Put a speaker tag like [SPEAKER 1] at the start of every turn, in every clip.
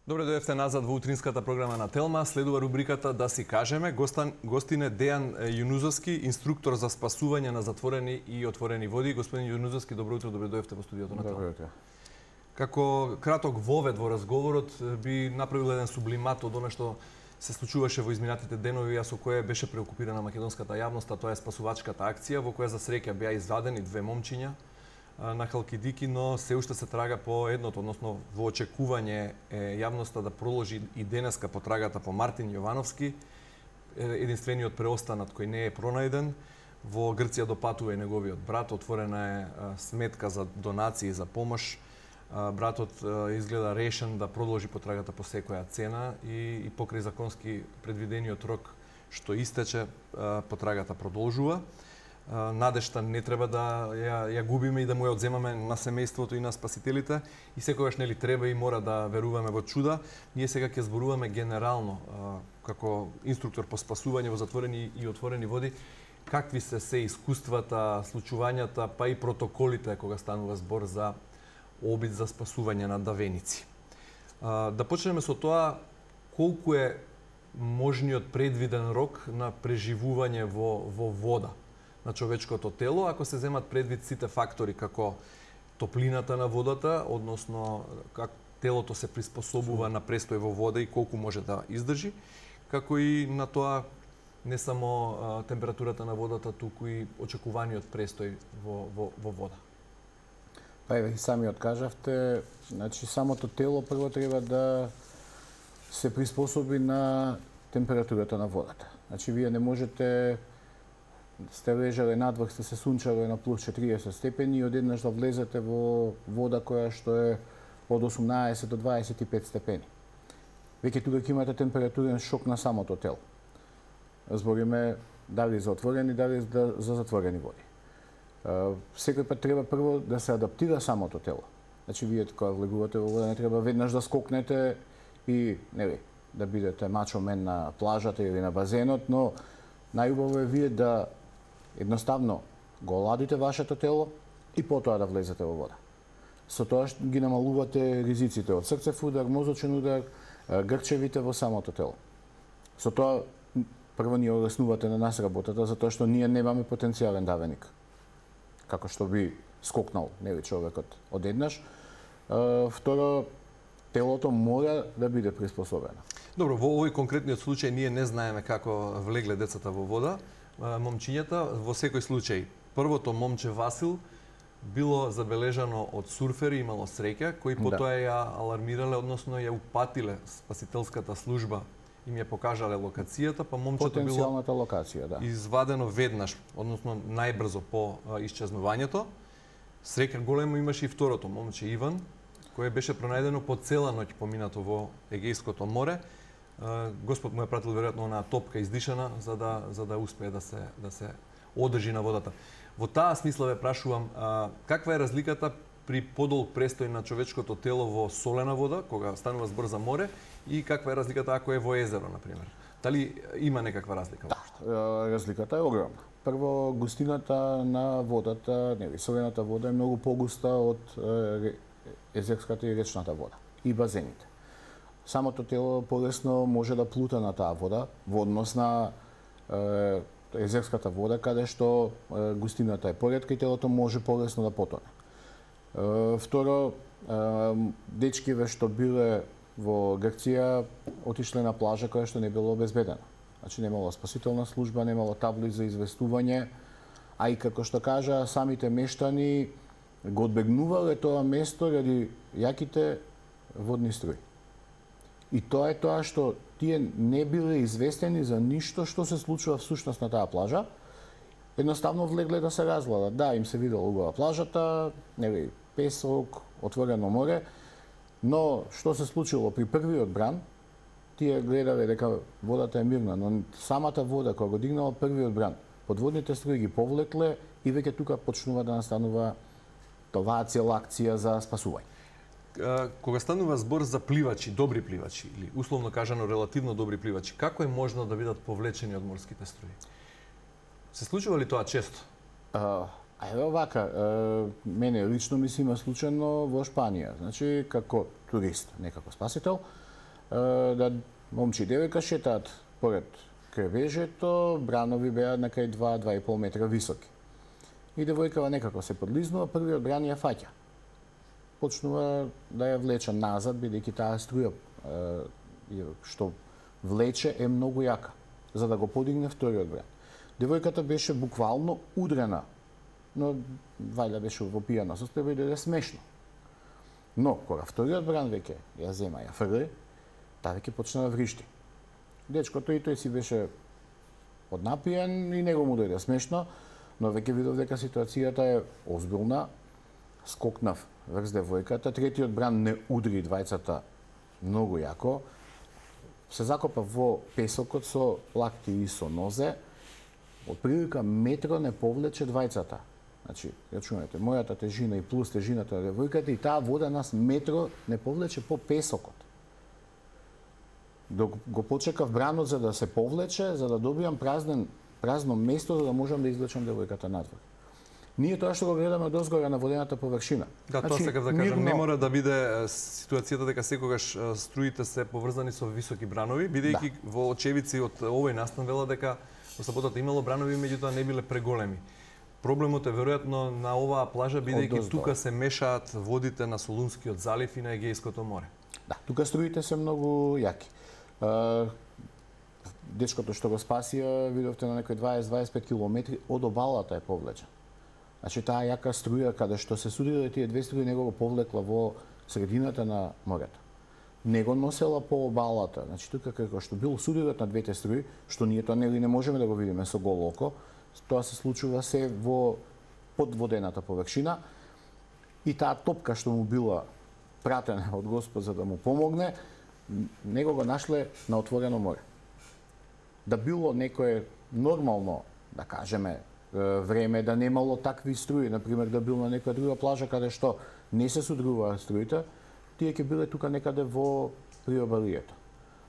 [SPEAKER 1] Добре дојдовте назад во утринската програма на Телма. Следува рубриката Да си кажеме. Гостин е Дејан Јунузовски, инструктор за спасување на затворени и отворени води. Господин Јунузовски, добро утро, добре дојдовте во студиото на Телма.
[SPEAKER 2] Добро утро.
[SPEAKER 1] Како краток вовед во разговорот би направил еден сублимат од она што се случуваше во изминатите денови, а со кое беше преокупирана македонската јавност, а тоа е спасувачката акција во која за среќа беа извадени две момчиња на Халкидики, но се уште се трага по едното, односно во очекување јавноста да проложи и денеска потрагата по Мартин Јовановски, единствениот преостанат кој не е пронајден. Во Грција допатува и неговиот брат, отворена е сметка за донации за помош. Братот изгледа решен да продолжи потрагата по секоја цена и покрај законски предвидениот рок што истече, потрагата продолжува. Надежта не треба да ја губиме и да му ја одземаме на семејството и на спасителите, и секогаш нели треба и мора да веруваме во чуда. Ние сега ќе зборуваме генерално како инструктор по спасување во затворени и отворени води, какви се искуствата, случувањата, па и протоколите кога станува збор за обид за спасување на давеници. Да почнеме со тоа колку е можниот предвиден рок на преживување во вода на човечкото тело, ако се земат предвид сите фактори како топлината на водата, односно как телото се приспособува на престој во вода и колку може да издржи, како и на тоа не само температурата на водата, туку и очекуваниот престој во вода.
[SPEAKER 2] Па еве и сами откажавте, значи самото тело прво треба да се приспособи на температурата на водата. Значи вие не можете сте лежале надвор, сте се сунчале на плюс 40 степени и одеднаш да влезете во вода која што е од 18 до 25 степени. Веќе тука ќе имате температурен шок на самото тело. Збориме дали за отворени, дали за затворени води. Секој пат треба прво да се адаптира самото тело. Значи вие кога влегувате во вода не треба веднаш да скокнете и нели да бидете мачо мен на плажата или на базенот, но најубаво е вие да едноставно го оладите вашето тело и потоа да влезете во вода. Со тоа ги намалувате ризиците од срцев удар, мозочен удар, грчевите во самото тело. Со тоа прво ни олеснувате на нас работата, затоа што ние немаме потенцијален давеник, како што би скокнал нели човекот одеднаш. Второ, телото мора да биде приспособено.
[SPEAKER 1] Добро, во овој конкретниот случај ние не знаеме како влегле децата во вода, момчињата. Во секој случај, првото момче Васил било забележано од сурфери, имало среќа, кои потоа ја алармирале, односно ја упатиле спасителската служба, им ја покажале локацијата, па момчето било
[SPEAKER 2] потенцијалната локација, да,
[SPEAKER 1] извадено веднаш, односно најбрзо по исчезнувањето. Среќа големо имаше и второто момче Иван, кое беше пронајдено по цела ноќ поминато во Егејското море. Господ му е пратил веројатно онаа топка издишана за да успее да се одржи на водата. Во таа смисла ве прашувам, каква е разликата при подолг престој на човечкото тело во солена вода, кога станува збор за море, и каква е разликата ако е во езеро, например? Дали има некаква разлика?
[SPEAKER 2] Да, разликата е огромна. Прво, густината на водата, нели, солената вода е многу погуста од езерската и речната вода и базените. Самото тело полесно може да плута на таа вода во однос на езерската вода, каде што густината е поретка и телото може полесно да потоне. Второ, дечкиве што биле во Грција отишле на плажа која што не било обезбедена. Значи немало спасителна служба, немало табли за известување, а и како што кажа самите мештани го одбегнувале тоа место ради јаките водни струи. И тоа е тоа што тие не биле известени за ништо што се случува всушност на таа плажа. Едноставно влегле да се разгладат. Да, им се видело убава плажата, нели, песок, отворено море, но што се случило при првиот бран, тие гледале дека водата е мирна, но самата вода кога го дигнала првиот бран, подводните струи ги повлекле и веќе тука почнува да настанува оваа цела акција за спасување.
[SPEAKER 1] Кога станува збор за пливачи, добри пливачи, или условно кажано релативно добри пливачи, како е можно да бидат повлечени од морските струи? Се случува ли тоа често?
[SPEAKER 2] Еве овака, мене лично ми се има случајно во Шпанија, значи како турист, не како спасител. да момче и девојка шетаат поред кревежето, бранови беа некај 2-2,5 метра високи. И девојкава некако се подлизнува, првиот бран ја фаќа. Почнува да ја влече назад, бидејќи таа струја што влече е многу јака, за да го подигне вториот бран. Девојката беше буквално удрена, но вајда беше во пијана состојба и дојде смешно. Но кога вториот бран веќе ја зема, ја фрли, таа веќе почна да вришти. Дечкото и тој си беше поднапиен и него му дојде смешно, но веќе видов дека ситуацијата е озбилна. Скокнав врз девојката, третиот бран не удри двајцата многу јако. Се закопа во песокот со лакти и со нозе. Од прилика метро не повлече двајцата. Значи, рачунете, мојата тежина и плюс тежината на девојката и таа вода нас метро не повлече по песокот. Док го почекав бранот за да се повлече, за да добијам празно место за да можам да извлечам девојката надвор. Ние тоа што го гледаме од озгора на водената површина.
[SPEAKER 1] Да, тоа сакав да кажам, не мора да биде ситуацијата дека секогаш струите се поврзани со високи бранови, бидејќи во очевици од овој настан вела дека во саботата имало бранови, меѓутоа не биле преголеми. Проблемот е веројатно на оваа плажа, бидејќи тука се мешаат водите на Солунскиот залив и на Егејското море.
[SPEAKER 2] Да, тука струите се многу јаки. Дечкото што го спасија, видовте на некои 20-25 километри од обалата е повлечен. Значи таа јака струја каде што се судирале тие две струи него го повлекла во средината на морето. Не го носела по обалата. Значи тука како што бил судирот на двете струи, што ние тоа не можеме да го видиме со голо око, тоа се случува се во подводената површина и таа топка што му била пратена од Господ за да му помогне, него го нашле на отворено море. Да било некое нормално, да кажеме, време, да немало такви струи, например да бил на некоја друга плажа каде што не се судруваат струите, тие ќе биле тука некаде во приобалието.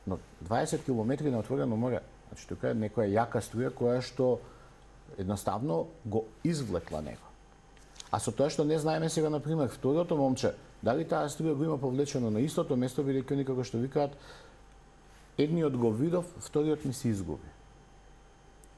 [SPEAKER 2] Но 20 километри на отворено море, значи тука е некоја јака струја која што едноставно го извлекла него. А со тоа што не знаеме сега, например, второто момче, дали таа струја го има повлечено на истото место, бидејќи они како што викаат, едниот го видов, вториот ми се изгуби.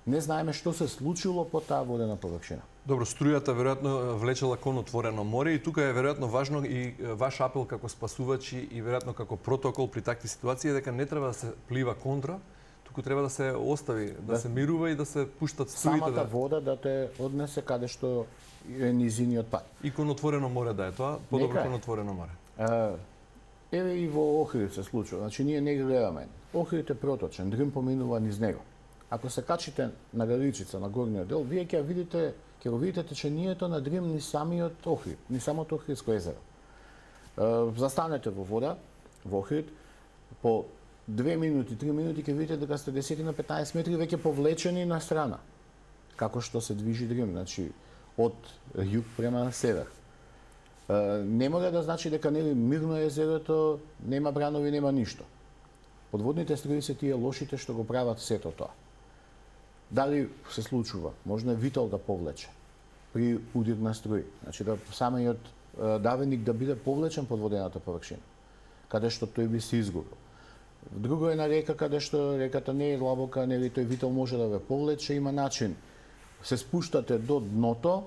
[SPEAKER 2] Не знаеме што се случило по таа водена површина.
[SPEAKER 1] Добро, струјата веројатно влечела кон отворено море и тука е веројатно важно и ваш апел како спасувачи и веројатно како протокол при такви ситуации дека не треба да се плива контра, туку треба да се остави, да се мирува и да се пуштат струите.
[SPEAKER 2] Самата вода да те однесе каде што е низиниот пат.
[SPEAKER 1] И кон отворено море да е тоа, подобро кон отворено море.
[SPEAKER 2] Еве и во Охрид се случува. Значи ние не гледаме. Охрид е проточен, Дрим поминува низ него. Ако се качите на Галичица, на горниот дел, вие ќе го видите течението на Дрим ни самиот Охрид, ни самото Охридско езеро. Застанете во вода, во Охрид, по 2 минути, 3 минути ќе видите дека сте 10 на 15 метри веќе повлечени на страна. Како што се движи Дрим, значи од југ према север. Не мора да значи дека нели мирно езерото, нема бранови, нема ништо. Подводните струи се тие лошите што го прават сето тоа. Дали се случува? Можно витол да повлече при удир на струи. Значи да самиот давеник да биде повлечен под водената површина, каде што тој би се изгубил. Друго е на река каде што реката не е длабока, нели тој витол може да ве повлече, има начин. Се спуштате до дното,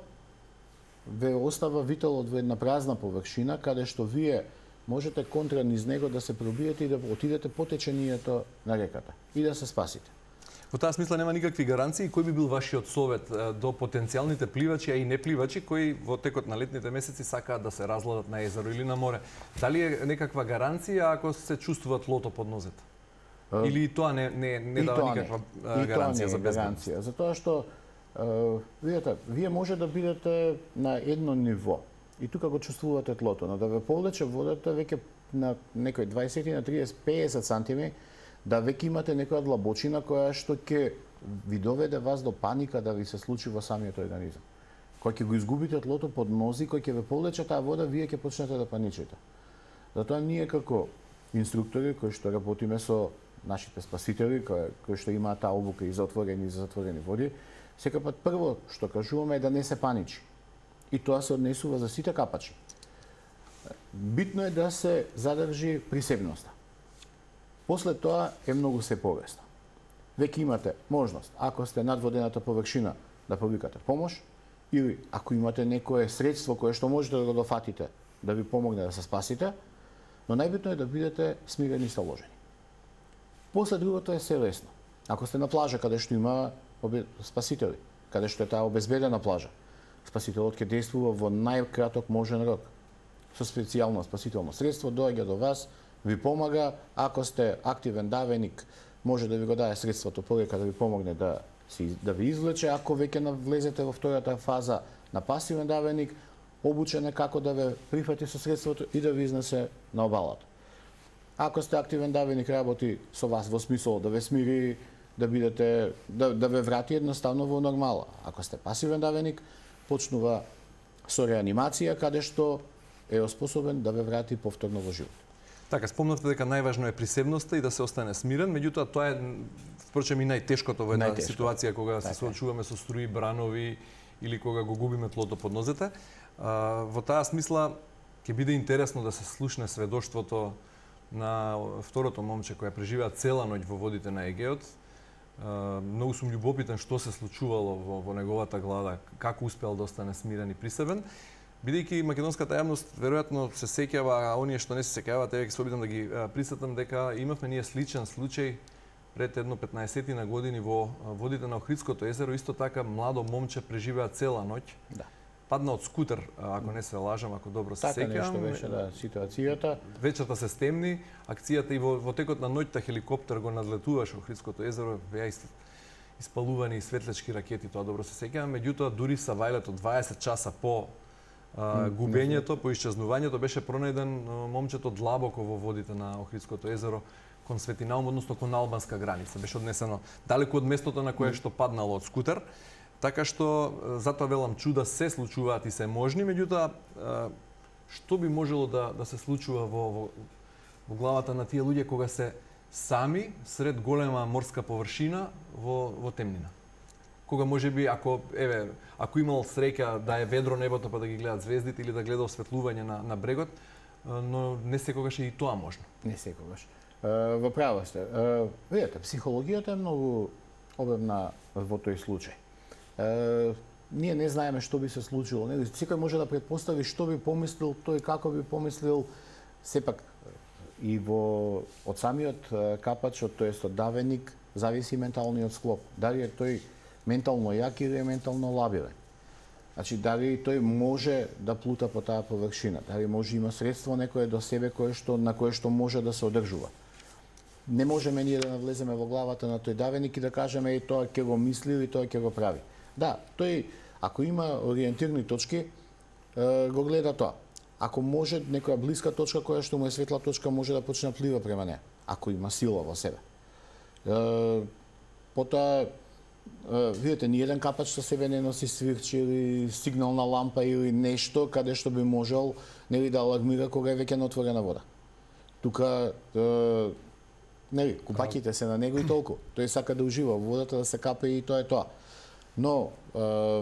[SPEAKER 2] ве остава витолот во една празна површина каде што вие можете контра низ него да се пробиете и да отидете по течението на реката и да се спасите.
[SPEAKER 1] Во таа смисла нема никакви гаранции. Кој би бил вашиот совет до потенцијалните пливачи, а и непливачи кои во текот на летните месеци сакаат да се разгладат на езеро или на море? Дали е некаква гаранција ако се чувствува тлото под нозете? Или тоа не дава никаква гаранција за безбедност?
[SPEAKER 2] Затоа што видите, вие може да бидете на едно ниво и тука го чувствувате тлото, но да ве повлече водата веќе на некој 20 на 30, 50 сантими, да веќе имате некоја длабочина која што ќе ви доведе вас до паника да ви се случи во самиот организам. Кога ќе го изгубите тлото под нози, кој ќе ве повлече таа вода, вие ќе почнете да паничите. Затоа ние како инструктори кои што работиме со нашите спасители, кои што имаат таа обука и за отворени и за затворени води, секогаш прво што кажуваме е да не се паничи. И тоа се однесува за сите капачи. Битно е да се задржи присебноста. После тоа е многу се полесно. Веќе имате можност, ако сте над водената површина, да повикате помош, или ако имате некое средство кое што можете да го дофатите, да ви помогне да се спасите, но најбитно е да бидете смирени и сталожени. После другото е се лесно. Ако сте на плажа каде што има спасители, каде што е таа обезбедена плажа, спасителот ќе действува во најкраток можен рок. Со специјално спасително средство доаѓа до вас, ви помага, ако сте активен давеник, може да ви го даде средството полека да ви помогне да ви извлече, ако веќе влезете во втората фаза на пасивен давеник, обучен е како да ве прифати со средството и да ви изнесе на обалата. Ако сте активен давеник, работи со вас во смисол да ве смири, да бидете да ве врати едноставно во нормала. Ако сте пасивен давеник, почнува со реанимација каде што е способен да ве врати повторно во живот.
[SPEAKER 1] Така, спомнавте дека најважно е присебноста и да се остане смирен, меѓутоа тоа е впрочем и најтешкото во една ситуација кога се соочуваме со струи, бранови или кога го губиме тлото под нозете. Во таа смисла ќе биде интересно да се слушне сведоштвото на второто момче која преживеа цела ноќ во водите на Егеот. Многу сум љубопитен што се случувало во неговата глава, како успеал да остане смирен и присебен. Бидејќи македонската јавност веројатно се сеќава, а оние што не се сеќаваат, ќе се обидам да ги присетам дека имавме ние сличен случај пред едно 15 години во водите на Охридското езеро, исто така младо момче преживеа цела ноќ.
[SPEAKER 2] Да.
[SPEAKER 1] Падна од скутер, ако не се лажам, ако добро се
[SPEAKER 2] така
[SPEAKER 1] сеќавам.
[SPEAKER 2] Така нешто беше да ситуацијата.
[SPEAKER 1] Вечерта се стемни, акцијата и во текот на ноќта хеликоптер го надлетуваше Охридското езеро, беа испалувани и светлечки ракети, тоа добро се сеќавам, меѓутоа дури савајлето 20 часа по губењето, по исчезнувањето беше пронајден момчето длабоко во водите на Охридското езеро кон Светинаум, односно кон албанска граница. Беше однесено далеку од местото на кое што паднало од скутер. Така што затоа велам чуда се случуваат и се можни, меѓутоа што би можело да се случува во главата на тие луѓе кога се сами сред голема морска површина во темнина? Кога можеби ако имал среќа да е ведро небото па да ги гледат звездите или да гледа осветлување на брегот, но не секогаш е и тоа можно.
[SPEAKER 2] Не секогаш. Во право сте. Видете, психологијата е многу обемна во тој случај. Ние не знаеме што би се случило. Секој може да претпостави што би помислил тој, како би помислил. Сепак и од самиот капач, тоест од давеник, зависи менталниот склоп. Дали е тој ментално јак или е ментално лабилен. Значи, дали тој може да плута по таа површина, дали може има средство некое до себе на кое што може да се одржува. Не можеме ние да навлеземе во главата на тој давеник и да кажеме тоа ќе го мисли или тоа ќе го прави. Да, тој ако има ориентирни точки, го гледа тоа. Ако може некоја блиска точка која што му е светла точка, може да почне да плива према неа, ако има сила во себе. Потоа видите, ни еден капач со себе не носи свирче или сигнална лампа или нешто каде што би можел да алармира кога е веќе на отворена вода. Тука купаќите се на него и толку. Тој сака да ужива во водата, да се капе и тоа е тоа. Но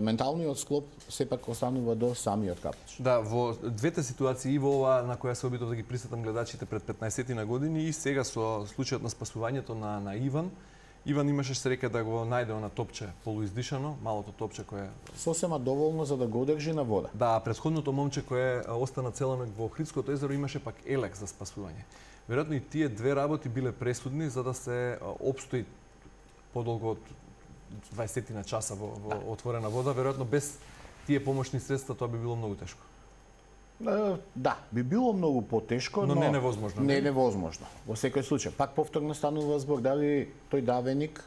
[SPEAKER 2] менталниот склоп сепак останува до самиот капач.
[SPEAKER 1] Да, во двете ситуации, и во ова на која се обидов да ги присетам гледачите пред 15 години и сега со случајот на спасувањето на Иван. Иван имаше среќа да го најде на топче полуиздишано, малото топче кое
[SPEAKER 2] сосема доволно за да го одржи на вода.
[SPEAKER 1] Да, претходното момче кое остана цела ноќ во Охридското езеро имаше пак елек за спасување. Веројатно и тие две работи биле пресудни за да се опстои подолго од 20 на часа во отворена вода. Веројатно без тие помошни средства тоа би било многу тешко.
[SPEAKER 2] Да, би било многу потешко,
[SPEAKER 1] но не невозможно.
[SPEAKER 2] Не невозможно. Во секој случај, пак повторно станува збор дали тој давеник,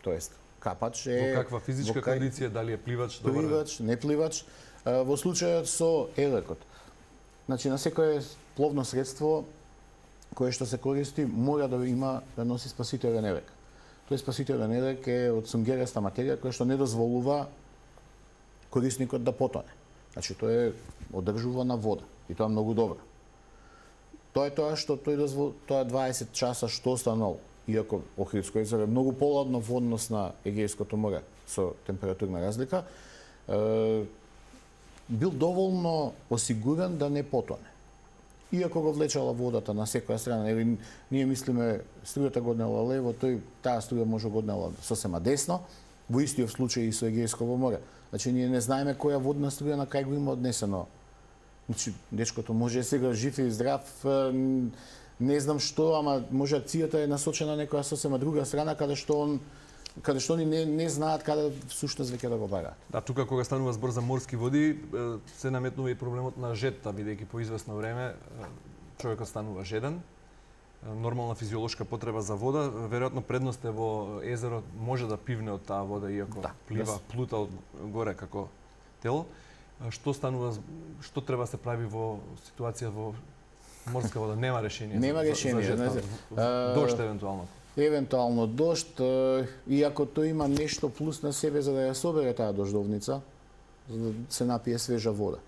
[SPEAKER 2] тоест капач е
[SPEAKER 1] во каква физичка кондиција, дали е пливач,
[SPEAKER 2] пливач, не пливач. Во случајот со елекот. Значи на секое пловно средство кое што се користи мора да има да носи спасителен елек. Тој спасителен елек е од сунгереста материја која што не дозволува корисникот да потоне. Значи тој е одржува на вода и тоа многу добро. Тоа е тоа што тоа 20 часа што останал, иако Охридско езеро е многу поладно во однос на Егејското море со температурна разлика, бил доволно осигурен да не потоне. Иако го влечала водата на секоја страна, нели ние мислиме струјата годнела лево, таа струја може годнела сосема десно, во истиот случај и со Егејското море. Значи ние не знаеме која водна струја на кај го има однесено. Значи дечкото може сега жив и здрав, не знам што, ама може акцијата е насочена на некоја сосема друга страна каде што они не знаат каде всушност веќе да го бараат.
[SPEAKER 1] Да, тука кога станува збор за морски води, се наметнува и проблемот на жетта, бидејќи по известно време човекот станува жеден. Нормална физиолошка потреба за вода, веројатно предност е во езеро може да пивне од таа вода иако плива, плута од горе како тело. Што станува, што треба да се прави во ситуација во морска вода? Нема решение.
[SPEAKER 2] Нема решение.
[SPEAKER 1] Дожд евентуално.
[SPEAKER 2] Евентуално дожд, иако тој има нешто плюс на себе за да ја собере таа дождовница, за да се напие свежа вода.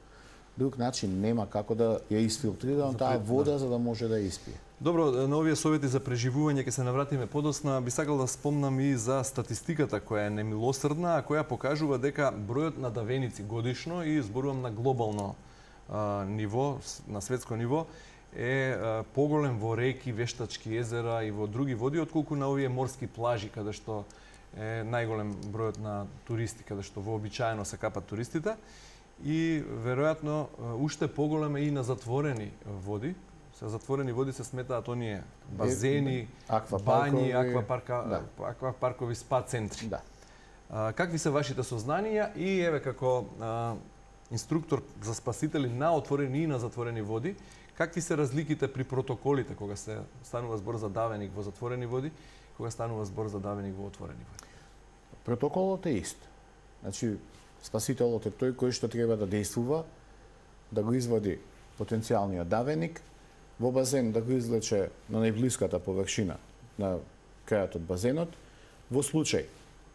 [SPEAKER 2] Друг начин нема како да ја изфилтрира таа вода за да може да ја испие.
[SPEAKER 1] Добро, на овие совети за преживување ќе се навратиме подосна. Би сакал да спомнам и за статистиката која е немилосрдна, а која покажува дека бројот на давеници годишно, и зборувам на глобално ниво, на светско ниво, е поголем во реки, вештачки езера и во други води, отколку на овие морски плажи, каде што е најголем бројот на туристи, каде што вообичаено се капат туристите. И веројатно уште поголем е и на затворени води. Со затворени води се сметаат оние базени, бањи, аквапаркови, спа центри.
[SPEAKER 2] Да.
[SPEAKER 1] Какви се вашите сознанија и еве како инструктор за спасители на отворени и на затворени води, какви се разликите при протоколите кога се станува збор за давеник во затворени води, кога станува збор за давеник во отворени води?
[SPEAKER 2] Протоколот е ист. Значи, спасителот е тој кој што треба да действува, да го извади потенцијалниот давеник, во базен да го извлече на најблиската површина на крајот од базенот. Во случај,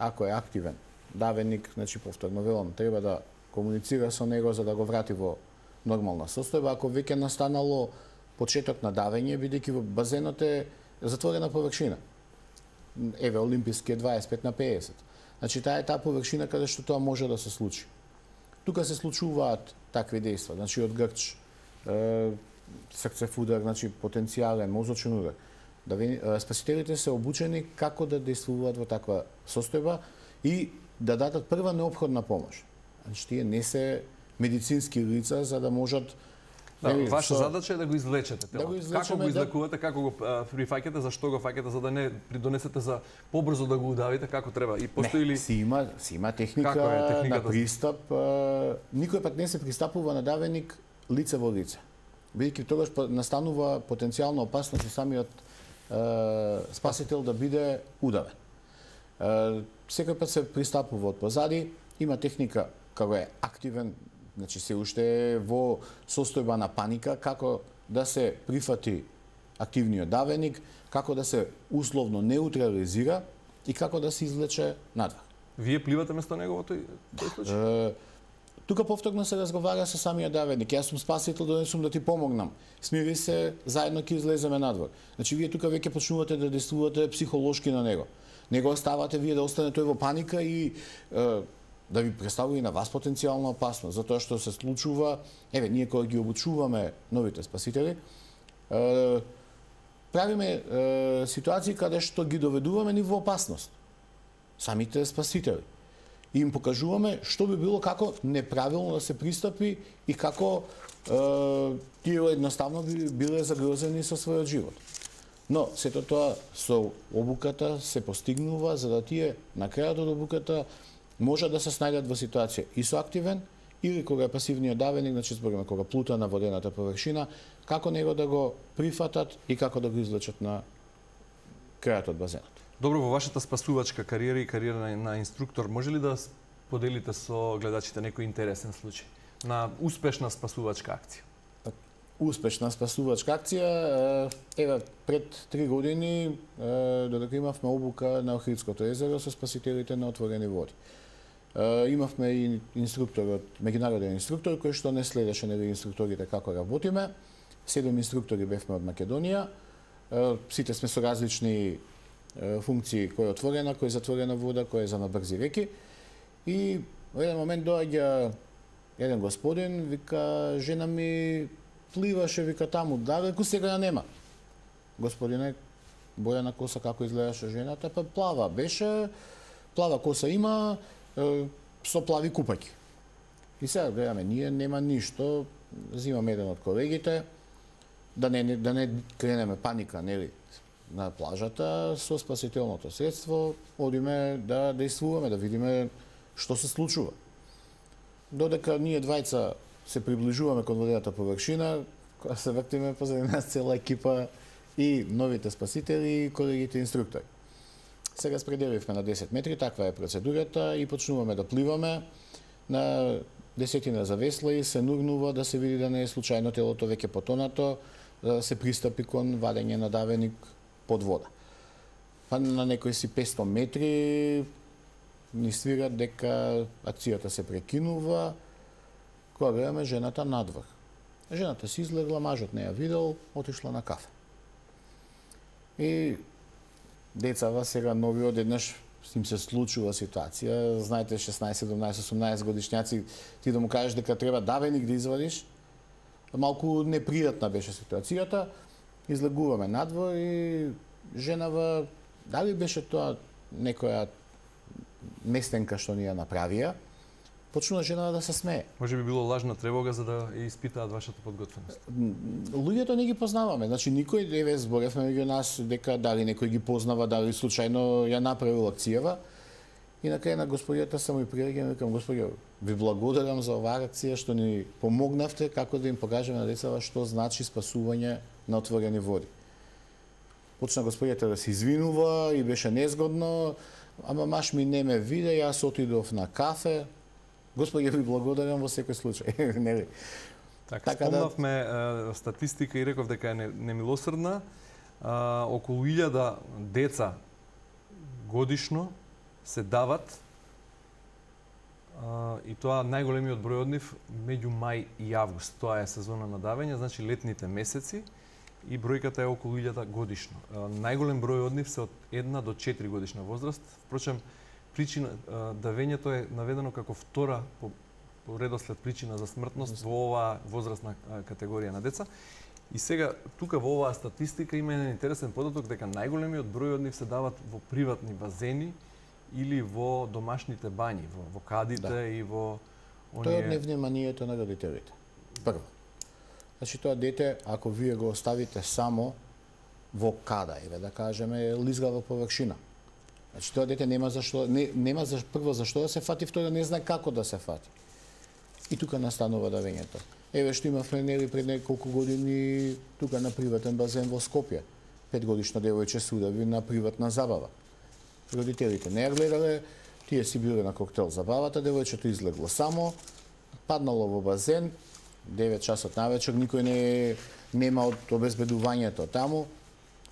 [SPEAKER 2] ако е активен давеник, значи повторно велам, треба да комуницира со него за да го врати во нормална состојба. Ако веќе настанало почеток на давење, бидејќи во базенот е затворена површина. Еве, олимписки е 25/50. Значи, таа е таа површина каде што тоа може да се случи. Тука се случуваат такви дејства, значи од грч, срцев удар, значи потенцијален мозочен удар. Спасителите се обучени како да действуваат во таква состојба и да дадат прва неопходна помош. Значи, тие не се медицински лица за да можат.
[SPEAKER 1] Ваша задача е да го извлечете телото. Како го излекувате, како го прифаќате, зашто го фаќате, за да не придонесете за побрзо да го удавите, како треба? И постои ли
[SPEAKER 2] си има техника на пристап. Никој пат не се пристапува на давеник лице во лице. Бидејќи тогаш настанува потенцијална опасност и самиот спасител да биде удавен. Секој пат се пристапува од позади, има техника како е активен, значи се уште е во состојба на паника, како да се прифати активниот давеник, како да се условно неутрализира и како да се извлече надвор.
[SPEAKER 1] Вие пливате место него во тој случај?
[SPEAKER 2] Тука повторно се разговара со самиот давеник. Јас сум спасител, донесум да ти помогнам. Смири се, заедно ќе излеземе надвор. Значи вие тука веќе почнувате да действувате психолошки на него. Не го оставате вие да остане тој во паника и да ви представува и на вас потенцијална опасност, затоа што се случува, еве, ние кога ги обучуваме новите спасители, правиме ситуации каде што ги доведуваме ни во опасност. Самите спасители. И им покажуваме што би било како неправилно да се пристапи и како тие едноставно би биле загрозени со својот живот. Но сето тоа со обуката се постигнува за да тие на крајот од обуката може да се снајдат во ситуација и со активен или кога е пасивниот давеник, значи збориме кога плута на водената површина, како него да го прифатат и како да го извлечат на крајот од базенот.
[SPEAKER 1] Добро, во вашата спасувачка кариера и кариера на инструктор, може ли да поделите со гледачите некој интересен случај на успешна спасувачка акција?
[SPEAKER 2] Успешна спасувачка акција, еве пред 3 години додека имавме обука на Охридското езеро со спасителите на отворени води. Имавме и инструкторот, меѓународен инструктор кој што не следеше нели инструкторите како работиме. 7 инструктори бевме од Македонија. Сите сме со различни функции, кој е отворена, кој е затворена вода, кој е за набрзи реки. И во еден момент доаѓа еден господин, вика, жена ми пливаше, вика таму, далеку, сега ја нема. Господине, боја на коса како изгледаше жената, па плава беше, плава коса има, со плави купаќи. И сега гледаме, ние нема ништо, взимаме еден од колегите, да не кренеме паника, нели, на плажата, со спасителното средство, одиме да действуваме, да видиме што се случува. Додека ние двајца се приближуваме кон водената површина, кога се вртиме позади нас цела екипа и новите спасители и колегите инструктори. Сега спределивме на 10 метри, таква е процедурата и почнуваме да пливаме. На десетина завесла и се нурнува да се види да не е случајно телото веќе потонато, да се пристапи кон вадење на давеник под вода. Па на некои си 500 метри ни свират дека акцијата се прекинува, кога гледаме жената надвор. Жената си излегла, мажот не ја видел, отишла на кафе. И децава сега нови одеднаш им се случува ситуација, знаете 16, 17, 18 годишњаци, ти да му кажеш дека треба давеник да извадиш, малку непријатна беше ситуацијата, излегуваме надвор и женава, дали беше тоа некоја местенка што ни ја направија, почнува женава да се смее.
[SPEAKER 1] Може би било лажна тревога за да ја испитаат вашата подготвеност.
[SPEAKER 2] Луѓето не ги познаваме, значи никој еве зборевме меѓу нас дека дали некој ги познава, дали случајно ја направил акцијава. И на крај на господијата само и приреагирам, викам господијо, ви благодарам за оваа акција што ни помогнавте како да им покажеме на децата што значи спасување на отворени води. Почна господијата да се извинува и беше незгодно, ама маш ми не ме виде, јас отидов на кафе. Господи, ви благодарам во секој случај. Нели?
[SPEAKER 1] Така спомнавме статистика и реков дека е немилосрдна. Околу 1000 деца годишно се дават и тоа најголемиот број од нив меѓу мај и август. Тоа е сезона на давење, значи летните месеци и бројката е околу 1000 годишно. Најголем број од нив се од 1 до 4 годишна возраст. Впрочем, причина давењето е наведено како втора по редослед причина за смртност во оваа возрастна категорија на деца. И сега тука во оваа статистика има еден интересен податок дека најголемиот број од нив се дават во приватни базени или во домашните бањи, во кадите и во оние.
[SPEAKER 2] Тоа е невниманието на родителите. Прво. Значи тоа дете, ако вие го оставите само во када, еве да кажеме, лизгава површина. Значи тоа дете нема за прво зашто да се фати, второ не знае како да се фати. И тука настанува давењето. Еве што имавме нели пред неколку години тука на приватен базен во Скопје. 5-годишно девојче се удави на приватна забава. Родителите не ја гледале, тие си биле на коктел забавата, девојчето излегло само, паднало во базен, 9 часот навечер, никој нема од обезбедувањето таму,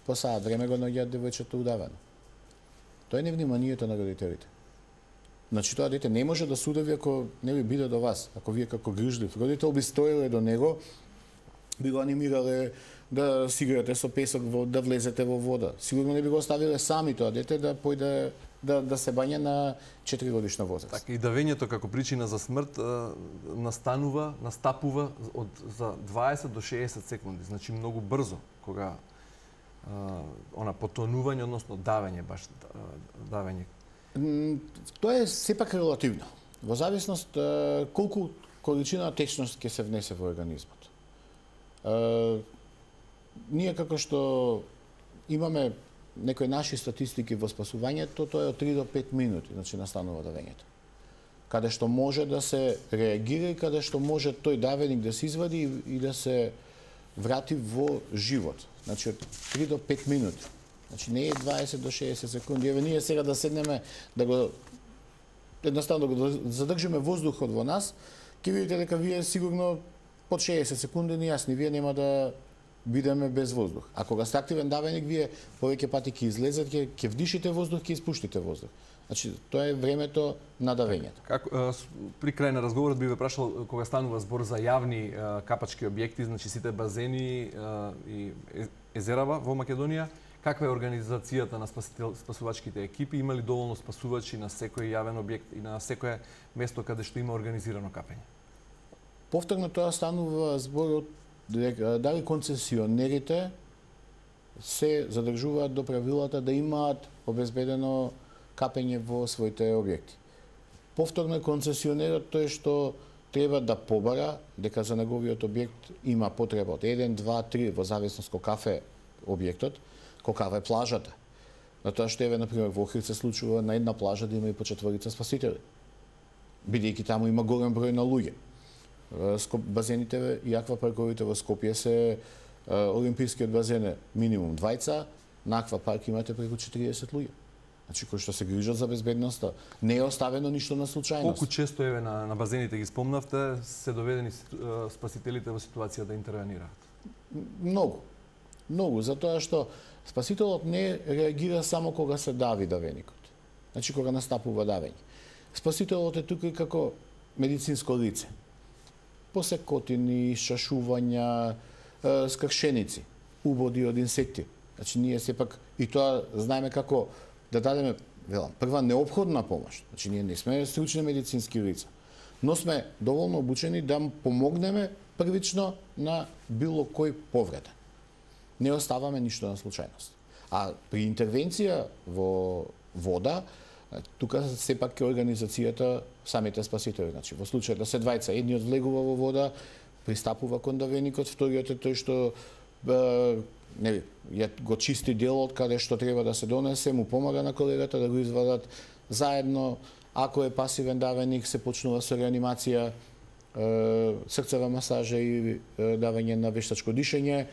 [SPEAKER 2] по саат време го наоѓаат девојчето удавено. Тоа е невниманието на родителите. Значи тоа дете не може да се удави ако не би биде до вас. Ако вие како грижлив родител би стоеле до него, би го анимирале да си играте со песок, да влезете во вода. Сигурно не би го оставиле сами тоа дете да појде да се бања на 4 годишна возраст.
[SPEAKER 1] Така и давењето како причина за смрт настапува за 20 до 60 секунди, значи многу брзо кога она потонување, односно давење, баш давење.
[SPEAKER 2] Тоа е сепак релативно. Во зависност колку количина течност ќе се внесе во организмот. Ние како што имаме некои наши статистики во спасувањето, тоа е од 3 до 5 минути, значи настанува давењето. Каде што може да се реагира и каде што може тој давеник да се извади и да се врати во живот. Значи од 3 до 5 минути. Значи не е 20 до 60 секунди. Еве ние сега да седнеме да го едноставно да го задржиме воздухот во нас, ќе видите дека вие сигурно под 60 секунди ни јасни, вие нема да бидеме без воздух. А кога сте активен давеник, вие повеќе пати ќе излезете, ќе вдишите воздух, ќе испуштите воздух. Значи тоа е времето на давењето.
[SPEAKER 1] При крај на разговорот би ве прашал, кога станува збор за јавни капачки објекти, значи сите базени и езерава во Македонија, каква е организацијата на спасувачките екипи? Има ли доволно спасувачи на секој јавен објект и на секое место каде што има организирано капење?
[SPEAKER 2] Повторно тоа станува збор од дали концесионерите се задржуваат до правилата да имаат обезбедено капење во своите објекти. Повторно концесионерот тој што треба да побара дека за неговиот објект има потреба од 1, 2, 3 во зависност кафе објектот, каква е плажата. На тоа што например во Охрид се случува на една плажа да има и по 4 спасители. Бидејќи таму има голем број на луѓе. Базените и аквапарковите во Скопје се олимпискиот базен е минимум 2, на аквапарк имате преку 40 луѓе. Значи кои што се грижат за безбедноста, не е оставено ништо на случајност.
[SPEAKER 1] Колку често на базените ги спомнавте се доведени спасителите во ситуација да интервенираат?
[SPEAKER 2] Многу. Многу, затоа што спасителот не реагира само кога се дави давеникот. Значи кога настапува давење. Спасителот е тука и како медицинско лице. Посекотини, шашувања, скршеници, убоди од инсекти. Значи ние сепак и тоа знаеме како да дадеме, прва неопходна помош. Значи ние не сме стручни медицински лица, но сме доволно обучени да помогнеме првично на било кој повреден. Не оставаме ништо на случајност. А при интервенција во вода, тука сепак е организацијата самите спасители. Значи, во случај да се двајца, едниот влегува во вода, пристапува кон давеникот, вториот е тој што го чисти делот каде што треба да се донесе, му помага на колегата да го извадат заедно. Ако е пасивен давеник, се почнува со реанимација, срцева масажа и давање на вештачко дишење,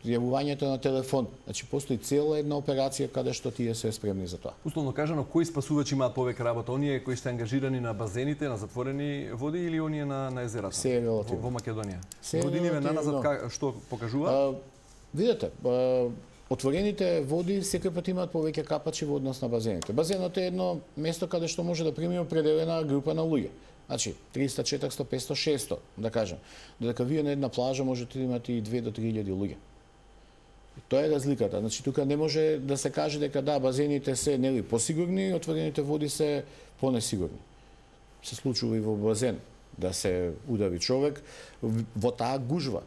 [SPEAKER 2] јавувањето на телефон. Значи постои цела една операција каде што тие се спремни за тоа.
[SPEAKER 1] Условно кажано, кои спасувачи имаат повеќе работа? Оние кои се ангажирани на базените, на затворени води или оние на езерата?
[SPEAKER 2] Се е релативно.
[SPEAKER 1] Во Македонија. Годиниве наназад што покажува?
[SPEAKER 2] Видете, отворените води секој пат имаат повеќе капачи во однос на базените. Базенот е едно место каде што може да прими определена група на луѓе. Значи 300, 400, 500, 600, да кажем. Додека вие на една плажа можете да имате и 2 до 3000 луѓе. Тоа е разликата. Значи тука не може да се каже дека да, базените се посигурни, отворените води се понесигурни. Се случува и во базен да се удари човек во таа гужва.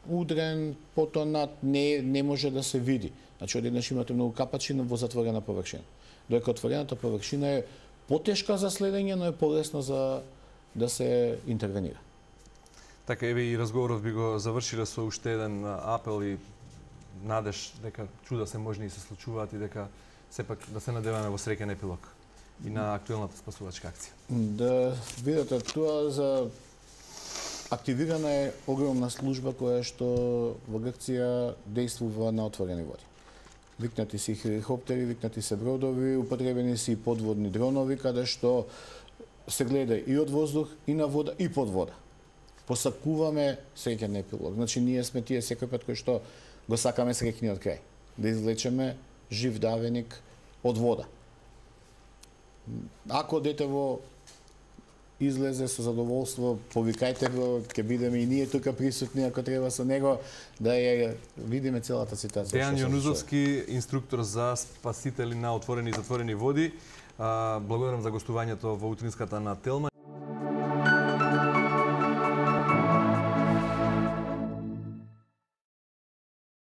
[SPEAKER 2] Удрен, потонат, не може да се види. Значи одеднаш имате многу капачи во затворена површина. Додека отворената површина е потешка за следење, но е полесно за да се интервенира.
[SPEAKER 1] Така, еве и разговорот би го завршиле со уште еден апел и надеж дека чуда се можни и се случуваат и дека сепак да се надеваме во среќен епилог и на актуелната спасувачка акција.
[SPEAKER 2] Да видите, тоа за активирана е огромна служба која што во Грција действува на отворени води. Викнати се хеликоптери, викнати се бродови, употребени се и подводни дронови, каде што се гледа и од воздух, и на вода, и под вода. Посакуваме среќен епилог. Значи, ние сме тие секој пат кои што го сакаме среќниот крај. Да извлечеме жив давеник од вода. Ако детево излезе со задоволство, повикајте го, ќе бидеме и ние тука присутни, ако треба со него, да ја видиме целата ситуација.
[SPEAKER 1] Дејан Јонузовски, инструктор за спасители на отворени и затворени води. Благодарам за гостувањето во утринската на Телма.